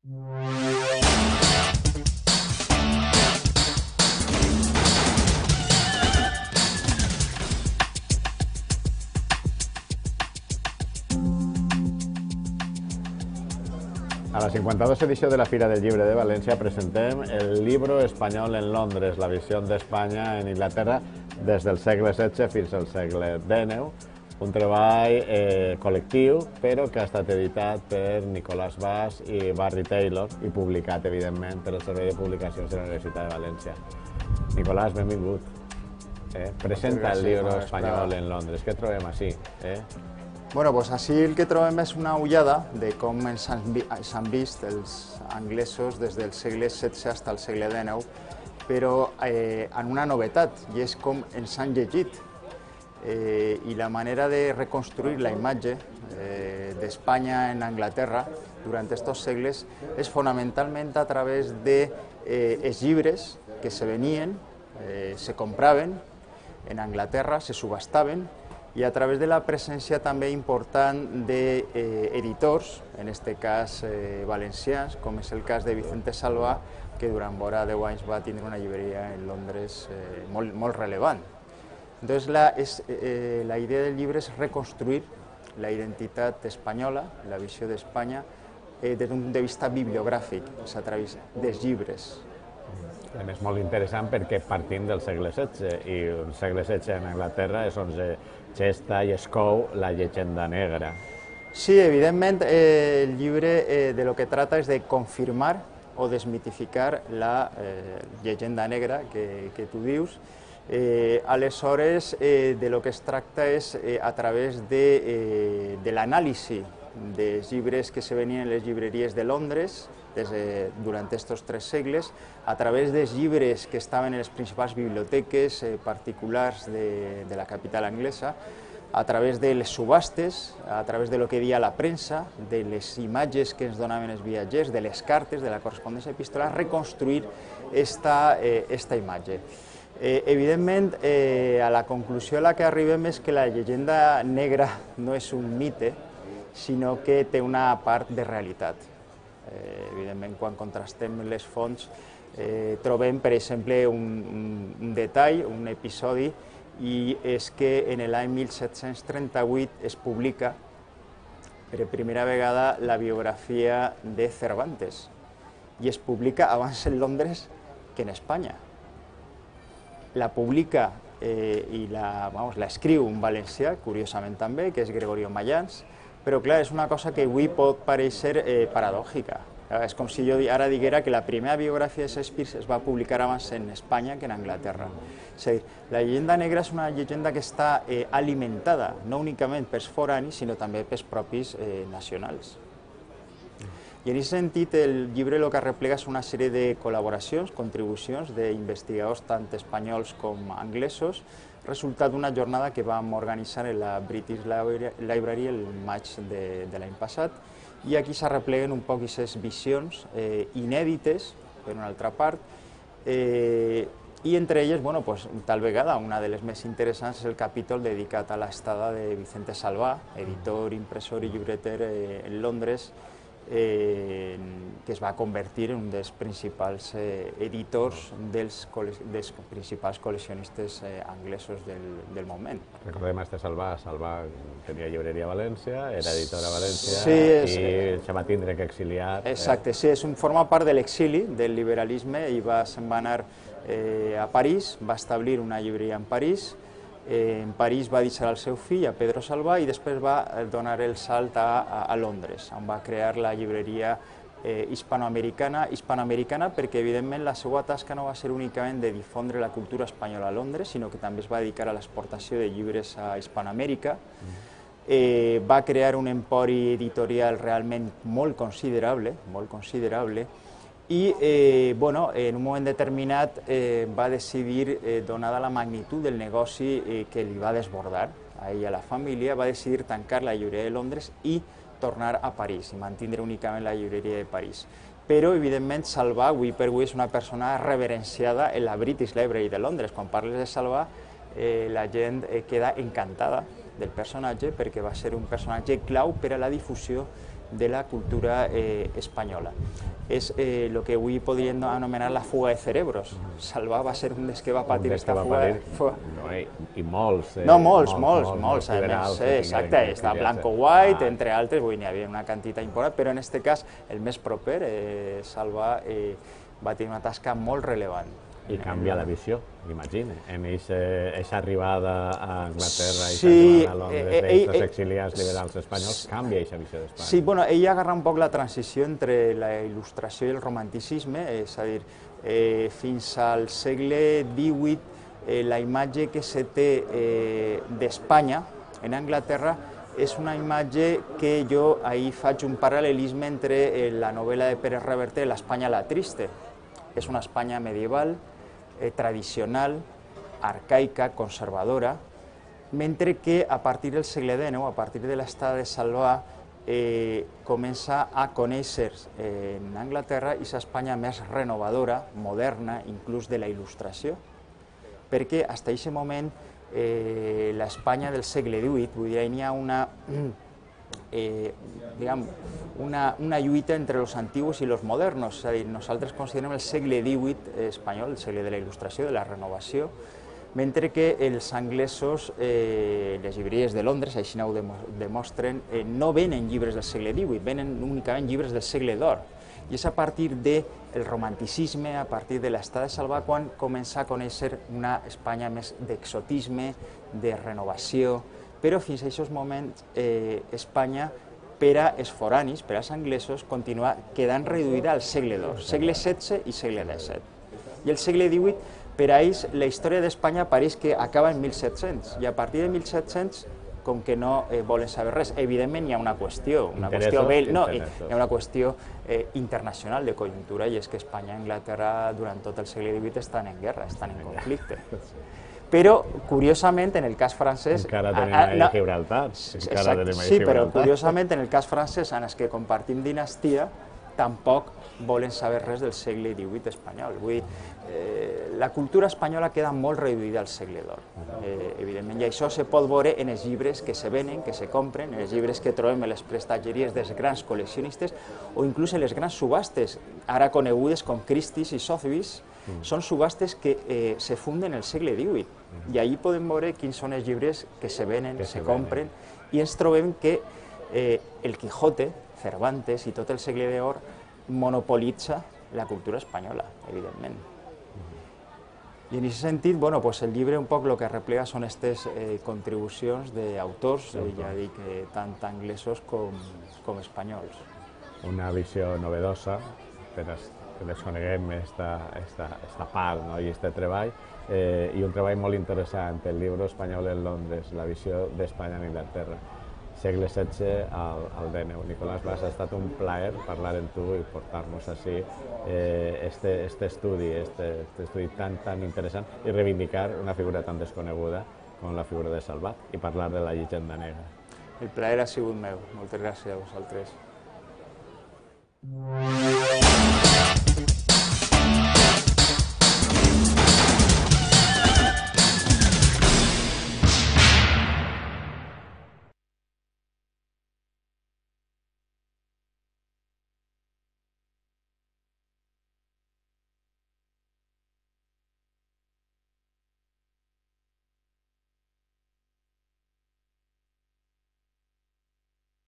A la 52 edició de la Fira del Llibre de València presentem el Libro Espanyol en Londres, la visió d'Espanya en Inglaterra des del segle XVI fins al segle XIX, un treball col·lectiu, però que ha estat editat per Nicolás Bas i Barry Taylor i publicat, evidentment, per el Servei de Publicacions de la Universitat de València. Nicolás, benvingut. Presenta el Libro Espanyol en Londres. Què trobem així? Bueno, doncs així el que trobem és una ullada de com ens han vist els anglesos des del segle XVI fins al segle XIX, però amb una novetat, i és com ens han llegit. I la manera de reconstruir la imatge d'Espanya en Anglaterra durant aquests segles és fonamentalment a través dels llibres que se venien, se compraven en Anglaterra, se subhastaven, i a través de la presència també important d'editors, en aquest cas valencians, com és el cas de Vicente Salvà, que durant vora 10 anys va tindre una llibreria en Londres molt rellevant. Entonces, la idea del llibre és reconstruir la identitat espanyola, la visió d'Espanya, des d'un punt de vista bibliogràfic, és a través dels llibres. A més, molt interessant perquè partim del segle XVI, i el segle XVI en Anglaterra és on se gesta i es cou la llegenda negra. Sí, evidentment, el llibre de lo que trata és de confirmar o desmitificar la llegenda negra que tu dius. Aleshores, de lo que es tracta és a través de l'anàlisi dels llibres que se venien en les llibreries de Londres durant aquests 3 segles, a través dels llibres que estaven en les principals biblioteques particulars de la capital anglesa, a través de les subhastes, a través de lo que dia la premsa, de les imatges que ens donaven els viatgers, de les cartes, de la correspondència epistolar, reconstruir esta imatge. Evidentment, a la conclusió a la que arribem és que la llegenda negra no és un mite, sinó que té una part de realitat. Evidentment, quan contrastem les fonts, trobem, per exemple, un detall, un episodi, i és que en l'any 1738 es publica per primera vegada la biografia de Cervantes, i es publica abans en Londres que en Espanya. La publica i l'escriu un valencià, curiosament també, que és Gregorio Mayans, però clar, és una cosa que avui pot parèixer paradòjica. És com si jo ara diguera que la primera biografia de Shakespeare es va publicar abans en Espanya que en Anglaterra. És a dir, la llegenda negra és una llegenda que està alimentada no únicament pels foranis, sinó també pels propis nacionals. I en aquest sentit, el llibre el que arreplega és una sèrie de col·laboracions, contribucions d'investigadors tant espanyols com anglesos, resultat d'una jornada que vam organitzar en la British Library el maig de l'any passat, i aquí s'arrepleguen un poc aquestes visions inèdites, per una altra part, i entre elles, tal vegada, una de les més interessants és el capítol dedicat a l'estada de Vicente Salvà, editor, impressor i llibreter en Londres, que es va convertir en un dels principals editors dels principals col·leccionistes anglesos del moment. Recordem este Salvà tenia llibreria a València, era editor a València i se va tindre que exiliar. Exacte, sí, forma part de l'exili, del liberalisme, i se'n va anar a París, va establir una llibreria en París. En París va deixar el seu fill, a Pedro Salvà, i després va donar el salt a Londres, on va crear la llibreria hispanoamericana perquè, evidentment, la seva tasca no va ser únicament de difondre la cultura espanyola a Londres, sinó que també es va dedicar a l'exportació de llibres a Hispanoamèrica. Va crear un empori editorial realment molt considerable, i en un moment determinat va decidir, donada la magnitud del negoci que li va desbordar a ell i a la família, va decidir tancar la llibreria de Londres i tornar a París i mantindre únicament la llibreria de París. Però, evidentment, Salvà, avui per avui, és una persona reverenciada en la British Library de Londres. Quan parles de Salvà, la gent queda encantada del personatge perquè va ser un personatge clau per a la difusió de la cultura espanyola. És el que avui podríem anomenar la fuga de cerebros. Salvà va ser un dels que va patir aquesta fuga. I molts. No, molts, a més, exacte, està Blanco White, entre altres, n'hi havia una quantitat important, però en aquest cas, el més proper, Salvà va tenir una tasca molt rellevant. I canvia la visió, m'imagino, en aquesta arribada a Anglaterra i arribada a Londres d'aquests exiliats liberals espanyols, canvia aquesta visió d'Espanya. Sí, bueno, ell agarra un poc la transició entre la il·lustració i el romanticisme, és a dir, fins al segle XVIII la imatge que se té d'Espanya en Anglaterra és una imatge que jo ahir faig un paral·lelisme entre la novel·la de Pérez Reverte, l'Espanya la triste. És una Espanya medieval, tradicional, arcaica, conservadora, mentre que a partir del segle XIX, a partir de l'estada de Salvà, comença a conèixer en Anglaterra aquesta Espanya més renovadora, moderna, inclús de la il·lustració, perquè fins a aquest moment l'Espanya del segle XVIII, vull dir, hi ha una lluita entre els antics i els moderns, és a dir, nosaltres considerem el segle XVIII espanyol, el segle de la il·lustració, de la renovació, mentre que els anglesos, les llibreries de Londres, així ho demostren, no venen llibres del segle XVIII, venen únicament llibres del segle d'or. I és a partir del romanticisme, a partir de l'estada de Salvà, quan comença a conèixer una Espanya més d'exotisme, de renovació, però fins a aquests moments Espanya, per als foranis, per als anglesos, continua quedant reduïda al segle d'or, segle XVI i segle XVII. I el segle XVIII, per a ells, la història d'Espanya pareix que acaba en 1700, i a partir de 1700, com que no volen saber res, evidentment hi ha una qüestió, internacional de conjuntura, i és que Espanya i Anglaterra durant tot el segle XVIII estan en guerra, estan en conflicte. Però, curiosament, en el cas francès... Encara tenim a Gibraltar. Sí, però curiosament, en el cas francès, en els que compartim dinastia, tampoc volen saber res del segle XVIII espanyol. Vull dir, la cultura espanyola queda molt reduïda al segle d'or, evidentment, i això se pot veure en els llibres que se venen, que se compren, en els llibres que trobem a les prestatgeries dels grans col·leccionistes o inclús en les grans subhastes, ara conegudes com Christie's i Sotheby's. Són subhastes que se funden en el segle XVIII i allí podem veure quins són els llibres que se venen, se compren, i ens trobem que el Quijote, Cervantes i tot el segle d'or monopolitza la cultura espanyola, evidentment. I en aquest sentit, el llibre un poc el que replega són aquestes contribucions d'autors, ja dic, tant anglesos com espanyols. Una visió novedosa, que desconeguem aquesta part i aquest treball, i un treball molt interessant, el llibre espanyol en Londres, la visió d'Espanya en Anglaterra, segle XVI al DNU. Nicolás Bas, ha estat un plaer parlar amb tu i portar-nos així este estudi tan interessant i reivindicar una figura tan desconeguda com la figura de Salvat i parlar de la llegenda negra. El plaer ha sigut meu. Moltes gràcies a vosaltres.